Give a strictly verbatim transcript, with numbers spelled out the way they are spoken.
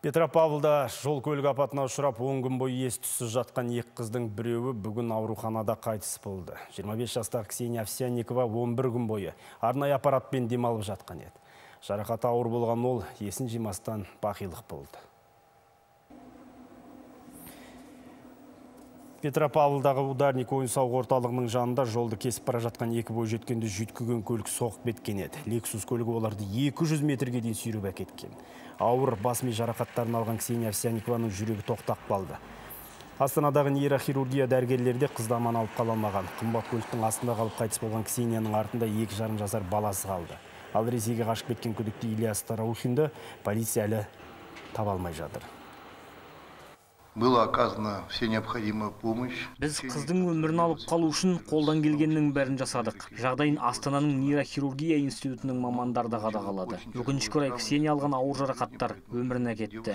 Петропавлда жол көлік апатына ұшырап он күн бойы ес-түссіз жатқан екі қыздың біреуі бүгін ауруханада қайтыс болды. жиырма бес жастағы Ксения Овсянникова он бір күн бойы арнайы аппаратпен демалып жатқан еді. Жарақаты ауыр болған ол есін жимастан бақилық болды. Петропавлдағы ударник ойын-сауық орталығының жанында жолды кесіп бара жатқан екі бойжеткенді жүйткіген көлік соғып кеткен еді. Лексус көлігі оларды екі жүз метрге дейін сүйреп әкеткен. Ауыр бас ми жарақаттарын алған Ксения Овсянникованың жүрегі тоқтап қалды. Астанадағы нейрохирургия дәрігерлері де қызды аман алып қала алмаған. Қымбат көліктің астында қалып қайтыс болған Ксенияның артында екі жарым жасар баласы қалды. Ал Ресейге қашып кеткен күдікті Ильяс Тараухинді полиция әлі таба алмай жатыр. Была оказана все необходимая помощь. Біз қыздың өмірін алып қалу үшін қолдан келгеннің бәрін жасадық. Жағдайын Астананың нейрохирургия институтының мамандары да қадағалады. Өкінішке орай Ксения алған ауыр жарақаттар өмірін әкетті.